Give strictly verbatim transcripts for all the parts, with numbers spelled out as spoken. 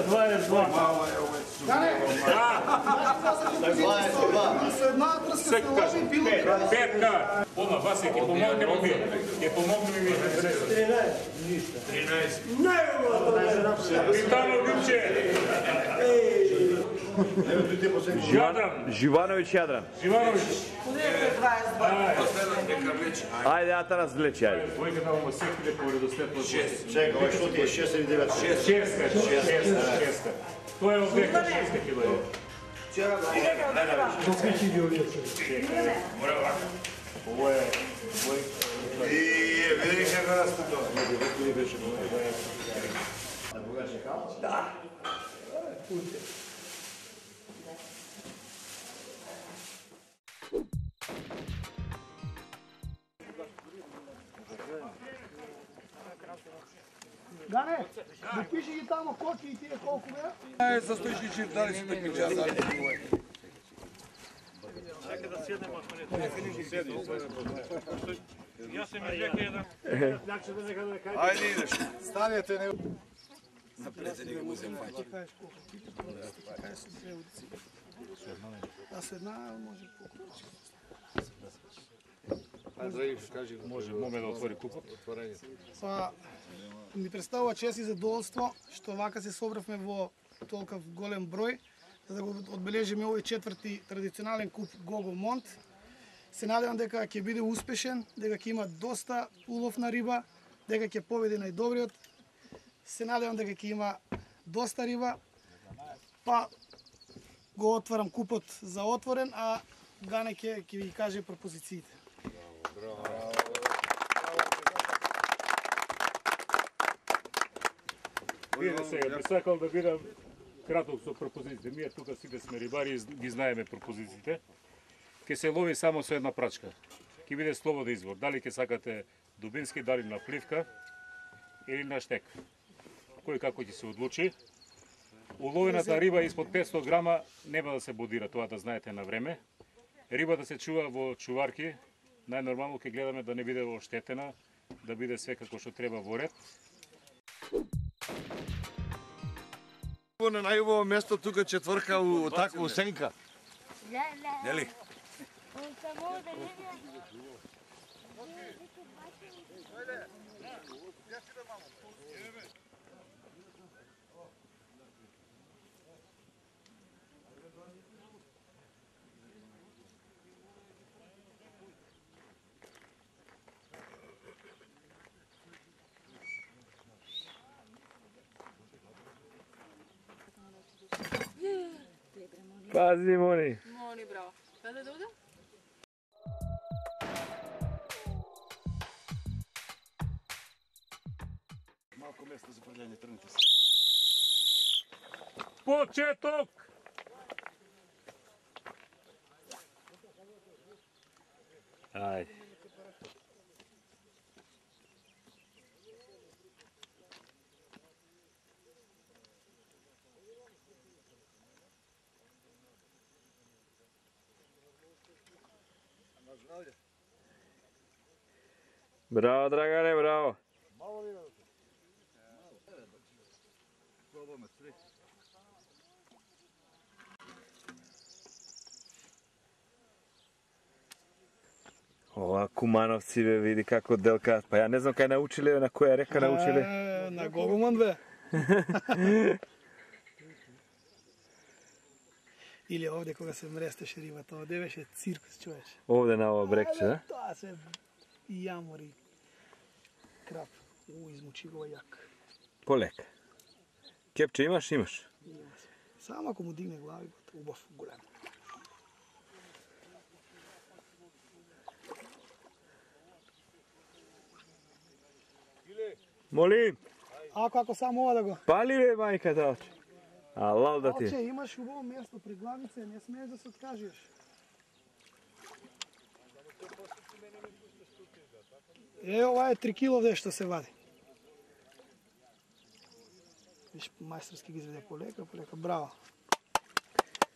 дваесет два. Петка. Ома, Васе, ќе помогнемо ви. Ќе помогнемо ви. тринаесет. Питано Любче. Живановиќ Јадран. Живановиќ. Ајде, Атанас влече, ајде. Војка да му секиле по редоследно. Чека, ој што ти е шест или девет? Шеска, шеска, шеска. Тоа е овдека шеска килоја. Ово е... И види како наступува. Да. Гане, да пиши ги тамо коки и тие колку беа? Е, за стоишки чиф, дали си такмичар, дали си двоје. Чека да седнемо, ако не седи. Јас се ми века еден. Ајде идеш. Станете не... Напред се не го узем фаќа. Да се една, може покупи. Може моме да отвори купот. Па, ми представува чест и задоволство што вака се собравме во толков голем број, за да го одбележиме овој четврти традиционален куп Гого Монт. Се надевам дека ќе биде успешен, дека ќе има доста улов на риба, дека ќе победи најдобриот. Се надевам дека ќе има доста риба. Па го отварам купот за отворен, а Гане ќе ќе ви каже пропозициите. Видите сега, би сакал да бидам краток со пропозициите. Ние тука сите сме рибари и ги знаеме пропозициите. Ке се лови само со една прачка. Ке биде слободен избор. Дали ке сакате дубински, дали на пливка или на штек. Кој како ќе се одлучи. Уловената риба испод петстотини грама нема да се бодира, тоа да знаете на време. Риба да се чува во чуварки. Најнормално ќе гледаме да не биде оштетена, да биде све како што треба во ред. На најубаво место тука четврка у така у сенка. Нели? Пази, Мони. Мони, браво. Каде да одам? Малко место за прелење, тргнете се. Почеток! Ајде. Браво, Драгане, браво. Ова кумановци бе, види како делкаат. Па ја не знам кај научиле, на која река научиле. На Гогомон бе. Или овде кога се мрестеше рибата, овде беше циркус, чуеш. Овде на ова брекче, да? Тоа се јамори. Крап. У, измучи го јак. Полека. Кепче имаш? Имаш. Само ако му дигне глави, убав, голем. Молим. Ако, ако само ова да го... Пали бе, мајката оче. Алал да ти. Оче, имаш убаво место при главице, не смееш да се откажеш. Е, ова е три кило што се вади. Виж, мајсторски ги изведе полека, полека. Браво.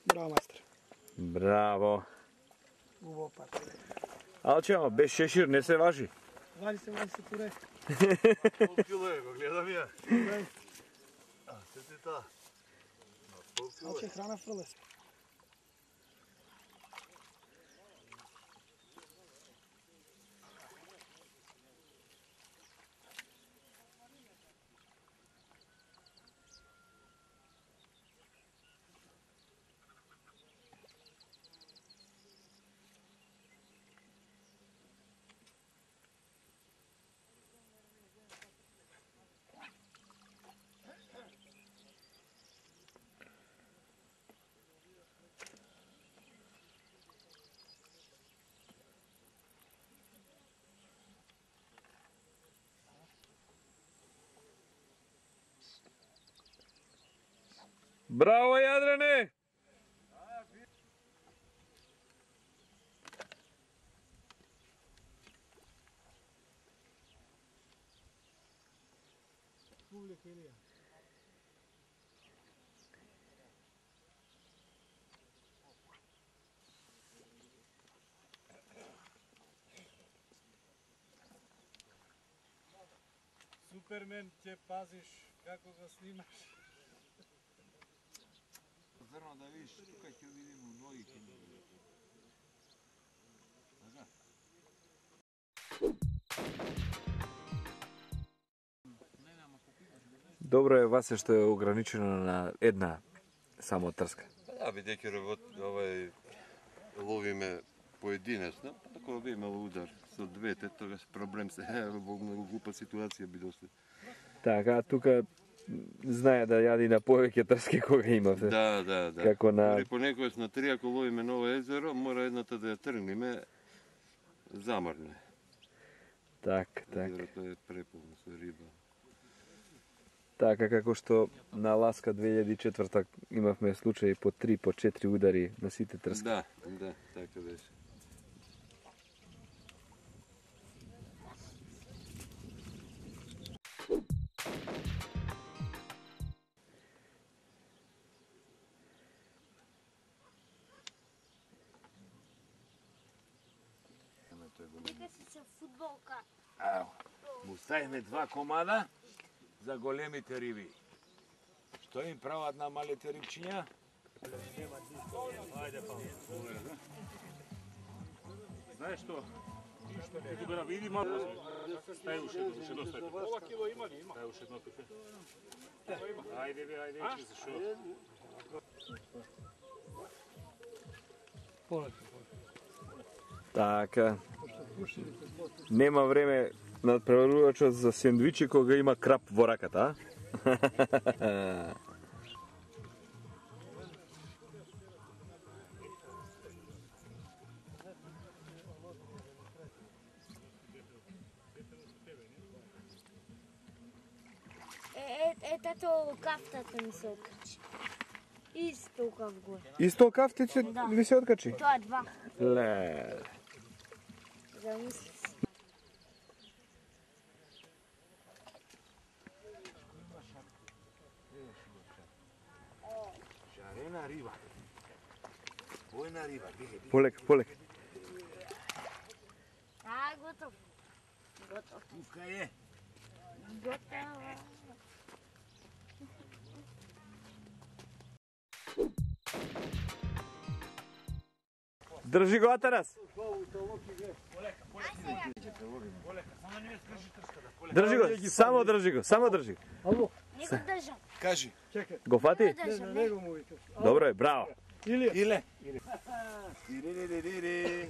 Браво, мајстор. Браво. Убаво пат. Алче, ама без шешир не се важи. Вади се, вади се, туре. Пол кило е, го гледам ја. А, се ти та. Пол кило Малче е. храна фрле се. Браво, Јадране! Публика или ја? Супермен, ќе пазиш како го снимаш. Зрно да видиш, тука ќе видиме ноги ќе ни видиш. Така? Добро е Васе што е ограничено на една само трска. Да, бидејќи работ, овај ловиме поединечно, ако би имало удар со двете, тогаш проблем се во многу глупа ситуација би дошле. Така, тука знае да јади на повеќе трски кога има. Да, да, да. Како на... Дори понекогаш на три, ако ловиме ново езеро, мора едната да ја тргнеме замрне. Так, так. Езерото е преполно со риба. Така како што на Ласка две илјади и четврта имавме случаи по три, по четири удари на сите трски. Да, да, така беше. Нека си се фудболка. Ево, му ставиме два комада за големите риби. Што им прават на малите рибчиња? Знаеш што? Ќе го види малку. Дај уште, уште доста. Ова кило има ли? Има. Дај уште едно тука. Ајде бе, ајде, че се шо. Така. Нема време надпреварувачот за сендвичи кога има крап во раката, а? Е, е, тато кафтата ми се окачи. Исто кав горе. Исто кафтице Да. ви се откачи? Тоа два. Ле. Замисли си. Шарена риба. Бојна риба, биге, биге. Полека, полека. А, готов. Готов. Тука е. Готова. Држи го, Атанас. Држи го, само држи го, само држи го. Не го држам. Кажи. Го фати? Не го држам, не. Добро е, браво. Иле. Иле. Тири-ри-ри-ри.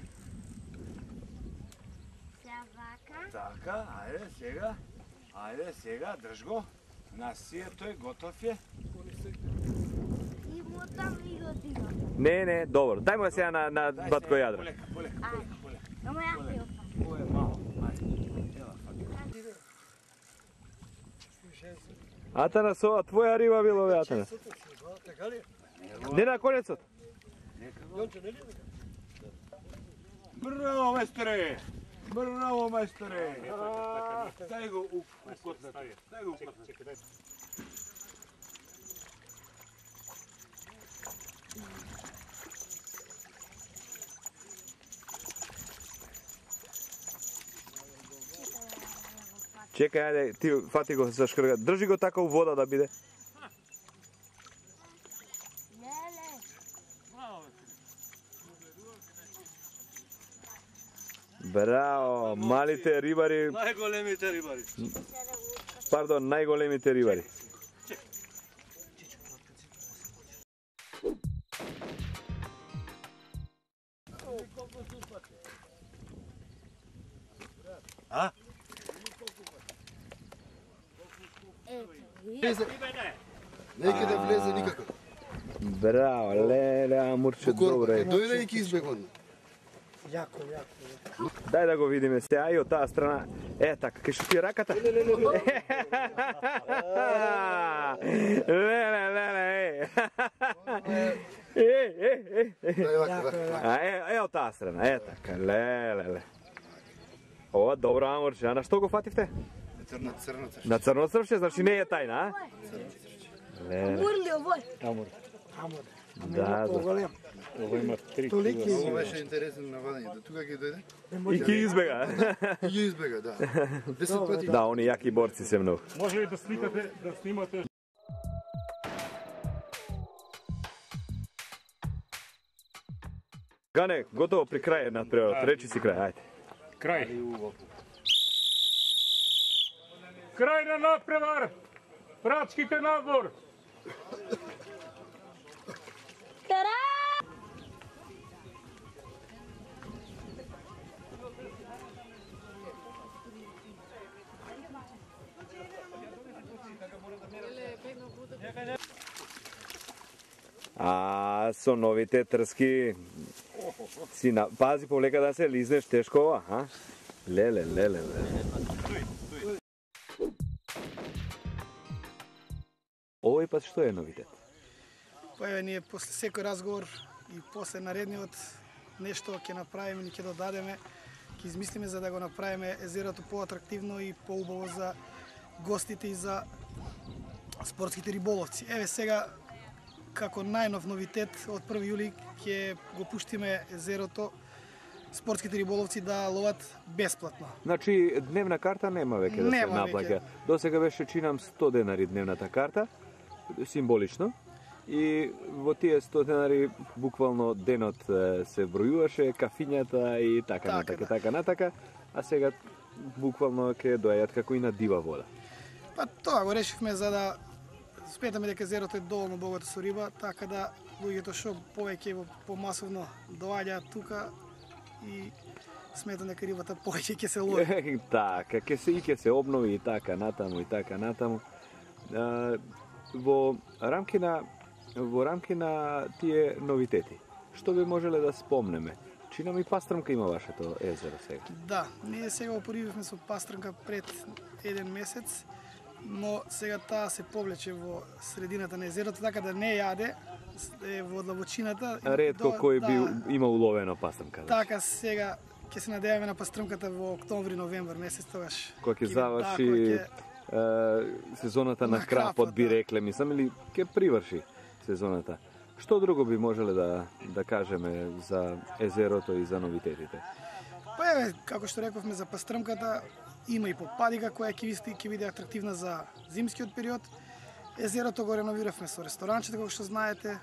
Сега вака. Така, ајде сега. Ајде сега, држ го. Насијето е, готов е. И му там и го дигам. Не, не, добро. Дај му сега на, на Дај батко сега, јадро. Полека, полека, полека, полека. Ама ја ќе опа. Ovo je malo, ajde. Ела, фака. Атанас, ова твоја риба било, бе, Атанас. Не на конецот. Браво, мајсторе! Браво, мајсторе! Дај го у котлета. Дај го у котлета. Чекај, ајде, ти фати го за шкрга. Држи го така у вода да биде. Браво, малите рибари. Најголемите рибари. Пардон, најголемите рибари. А? Неќе да влезе никако. Браво, леле, амурче, добре. Дојде и ќе избегон. Јако, јако. Дај да го видиме се, ај од таа страна. Е, така, ке што ти е раката? Леле, леле, е. Е, е, е. А, е, е од таа страна, е така, леле, леле. Ова, добро, амурче, а на што го фативте? На црно црвче. На црно црвче, значи не е тајна, а? Амур ли овој? Амур. Да, да. Ова има три Ова кила. беше интересно на вадањето. Тука ќе дојде И ќе избега. и ќе избега, да. Десет пати. Да, они јаки борци се многу. Може ли да сникате, да снимате? Гане, готово при крај на превод. Речи си крај, ајде. Крај. Крај на надпревар. Прачките надвор. А со новите трски си на... Пази полека да се лизнеш тешко ова, а? Леле, леле, леле. Овој пат што е новитет? Па еве ние после секој разговор и после наредниот нешто ќе направиме и ќе додадеме, ќе измислиме за да го направиме езерото поатрактивно и поубаво за гостите и за спортските риболовци. Еве сега како најнов новитет од први јули ќе го пуштиме езерото спортските риболовци да ловат бесплатно. Значи, дневна карта нема веќе да се Нема наплаќа. До сега беше, чинам, сто денари дневната карта, символично. И во тие сто денари буквално денот е, се бројуваше, кафињата и така, Така, натака, да. така натака, а сега буквално ќе доаѓаат како и на дива вода. Па тоа го решивме за да сметаме дека езерото е доволно богато со риба, така да луѓето што повеќе во помасовно доаѓаат тука и сметам дека рибата повеќе ќе се лови. Така, ќе се и ќе се обнови и така натаму и така натаму. А, во рамки на во рамки на тие новитети, што би можеле да спомнеме? Чинам и пастрмка има вашето езеро сега. Да, ние сега опорививме со пастрмка пред еден месец, но сега таа се повлече во средината на езерото, така да не јаде, е во длабочината. Ретко До- кој да, би има уловено пастрмка. Да. Така сега ќе се надеваме на пастрмката во октомври, новември месец тогаш. Кој ќе би- заврши да, кој ќе- е, сезоната на, На крапот, крапот, би да. рекле, мислам, или ќе приврши сезоната. Што друго би можеле да, да кажеме за езерото и за новитетите? Па еве, како што рековме за пастрмката, има и попадика која ќе биде, ќе биде атрактивна за зимскиот период. Езерото го реновиравме со ресторанчета, како што знаете.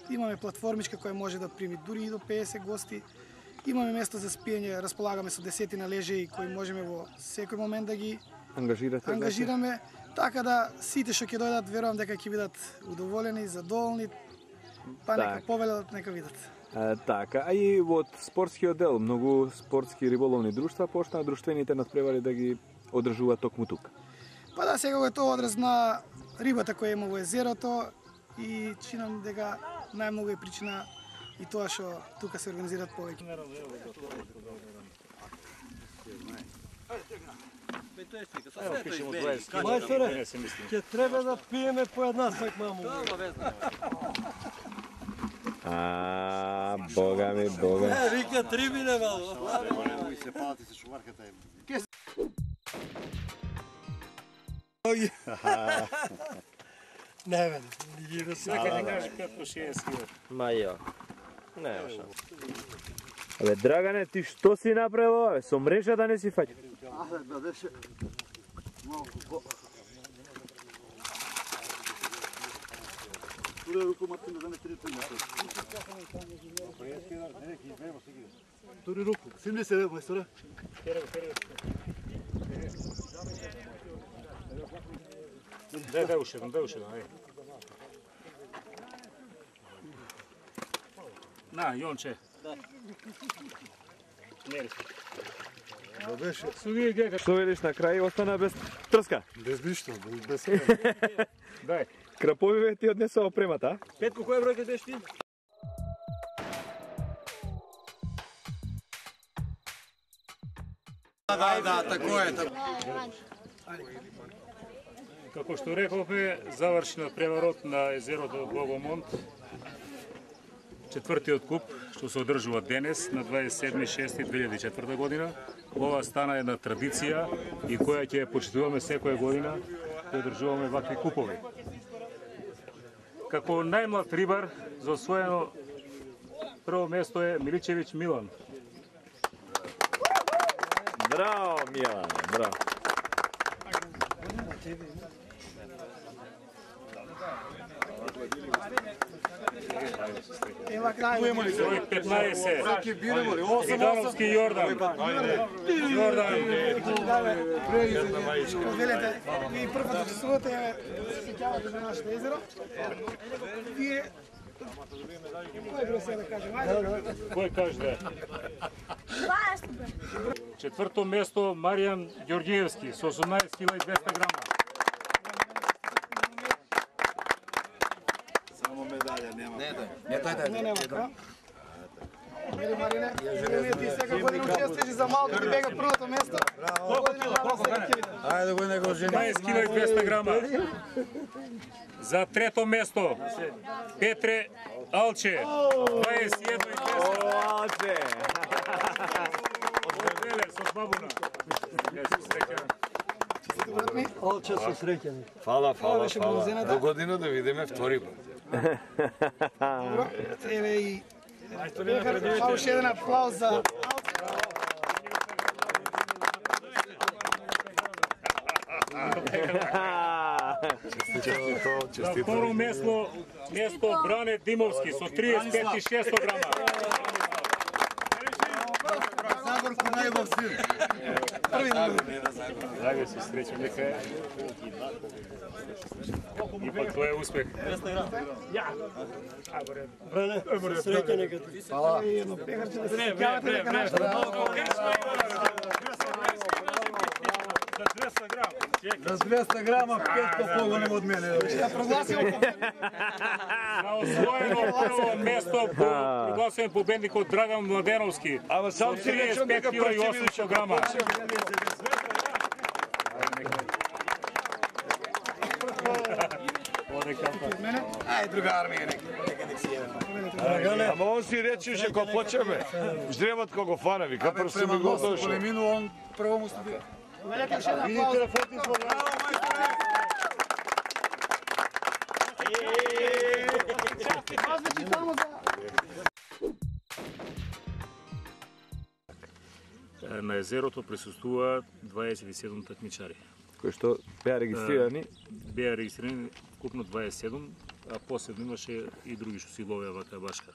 Имаме платформичка која може да прими дури и до педесет гости. Имаме место за спиење, располагаме со десетина лежеи кои можеме во секој момент да ги Ангажирате? ангажираме, така да сите што ќе дојдат, верувам дека ќе бидат удоволени, задоволни, па нека Так. повелат, нека видат. А, така, а и од спортскиот дел, многу спортски риболовни друштва почнаа друштвените надпревари да ги одржуваат токму тука. Па да, сега го е тоа одраз на рибата која има во езерото и чинам дека најмногу е причина и тоа што тука се организираат повеќе. Evo, pišemo dvadeset kila. Мајсторе, Ne se mislim. ќе треба да пиеме по една сак маму. А, бога ми, бога. Е, вика три биде мало. Кој се палати со шуварката е. Не, бе, не ги да се. Neka ne kaže petsto šezdeset kila. Ма ја. Нема шанс. Абе, Драгане, ти што си направил, бе? Со мрежа да не си фаќа? А, да беше Туре руку Мартин да не три три. Туре руку. Симли се мајсторе. Дај, дај уште еден, дај уште еден, ајде. На, Јонче. Мери се. Да беше. Суди гека. Што видиш на крај остана без трска. Без ништо, без Дај. Краповиве ти однесоа опремата, а? Петко, која бројка беше ти? Да, да, тако е. Како што рековме, заврши на преварот на езерото Богомонт. Четвртиот куп, што се одржува денес на дваесет и седми шести две илјади и четврта година. Ова стана една традиција и која ќе ја почитуваме секоја година, ќе одржуваме вакви купови. Како најмлад рибар, за освоено прво место е Миличевиќ Милан. Браво, Милан, браво. Ева крај. Број петнаесет. Видановски Јордан. Јордан. Велете, вие прво да чувствувате, се сеќавате за нашето езеро. Вие кој број се да кажем? Ајде. Кој каже? Четврто место Маријан Ѓорѓиевски со осумнаесет кила и двеста грама. Само медаља нема. Не, да. Не, нема, да? Мери Марине, Марине, ти сега година учествуваш за малку ти бега првото место. Ајде го него жени. дваесет кила и двеста грама. За трето место Петре Алче, дваесет и едно и двеста. Алче! Од Велес, од Бабуна. Алче со среќани. Фала, фала, беше фала. бронзената. До година да видиме втори пат. Добро, еве и Па уште еден аплауз за За второ место, место Бране Димовски со триесет пет и шесто грама. Загорко најбав син. Дајме се среќа, нека е. Ипак тоа е успех. Бране, среќа нека ти. едно пехарче да се сеќавате дека нашето За двеста грама пет поголем од мене. да прогласиме На освоено прво место прогласуваме победникот Драган Младеновски. Ама сам со си речем триесет пет дека кила и Прочивилиќ осумстотини грама. Ај, друга армија нека. Ама он си речеше кога почеме. Ждревот кога го фана, вика прв си ми го дошо. Полемину он прво му студија. Велете уште еден аплауз. Значи само за На езерото присуствуваат дваесет и седум такмичари. Кои што беа регистрирани. Беа регистрирани купно дваесет и седум, а посебно имаше и други што си ловеа вака башка.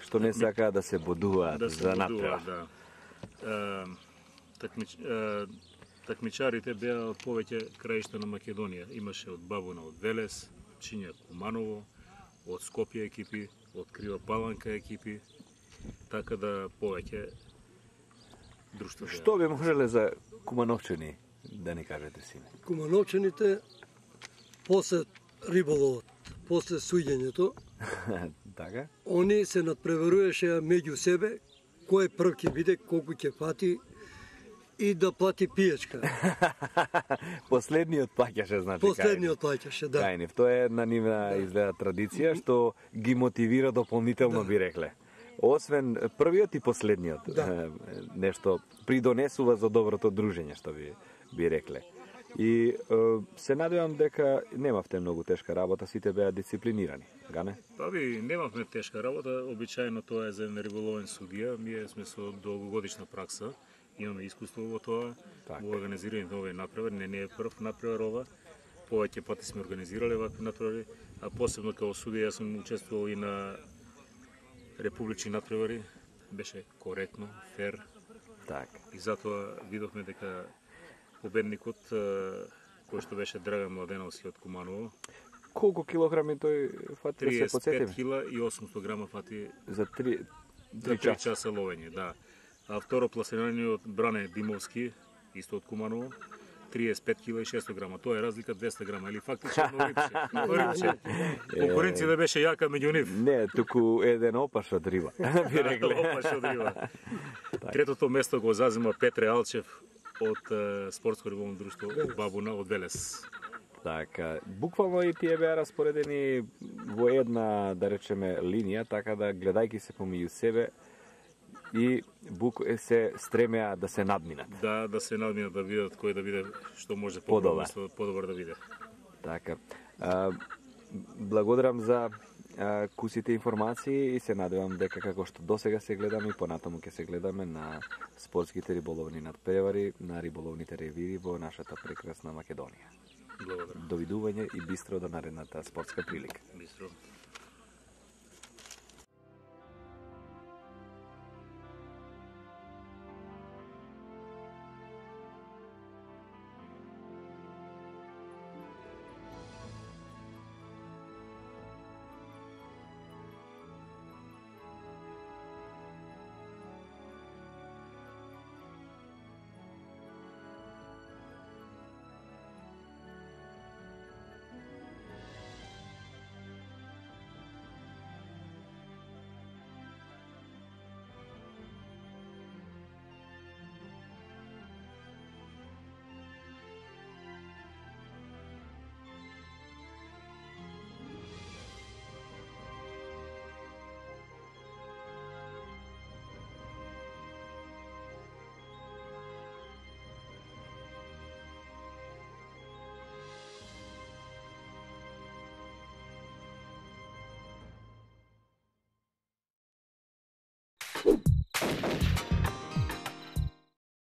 Што не сакаат да се бодуваат Да се за бодуваат, натпревар. да. Е, такмич, е, такмичарите беа од повеќе краишта на Македонија. Имаше од Бабуна, од Велес, Чинја, Куманово, од Скопје екипи, од Крива Паланка екипи, така да повеќе друштва беа. Што би можеле за Кумановчани да ни кажете, сине? Кумановчаните после риболовот, после суѓењето, Така? они се надпреваруваше меѓу себе кој прв ќе биде, колку ќе фати и да плати пијачка. Последниот плаќаше, значи. Последниот плаќаше, да. Кајнев. Тоа е една нивна изгледа традиција што ги мотивира дополнително, би рекле. Освен првиот и последниот, Да. е, нешто придонесува за доброто дружење, што би би рекле. И е, се надевам дека немавте многу тешка работа, сите беа дисциплинирани, гане? Па би, немавме тешка работа, обичајно тоа е за еден риболовен судија, ние сме со долгогодишна пракса имаме искуство во тоа, Така. во организирање на овој натпревар, не, не е прв натпревар ова, повеќе пати сме организирале вакви натпревари, а посебно како судија јас сум учествувал и на републични натпревари, беше коректно, фер, Така. и затоа видовме дека победникот, е, кој што беше Драган Младеновски од Куманово, Колку килограми тој фати да се триесет и пет подсетиме? кила и осумсто грама фати За три, за три три часа. часа ловење, да. А второ пласираниот Бране Димовски, исто од Куманово, триесет и пет кила и шестsto грама. Тоа е разлика двесте грама, или фактично едно рипче. Едно рипче. Конкуренцијата беше јака меѓу нив. Не, туку еден опаш од риба, би рекле. Опаш од риба. Третото место го зазема Петре Алчев од е, Спортско риболовно друштво Бабуна од Велес. Така, буквално и тие беа распоредени во една, да речеме, линија, така да гледајќи се помеѓу себе и бук се стремеа да се надминат. Да, да се надминат, да видат кој да биде што може Подобар. по-добро, подобар да биде. Така. А, благодарам за а, кусите информации и се надевам дека како што досега се гледаме и понатаму ќе се гледаме на спортските риболовни надпревари, на риболовните ревири во нашата прекрасна Македонија. Благодарам. Довидување и бистро до наредната спортска прилика. Бистро.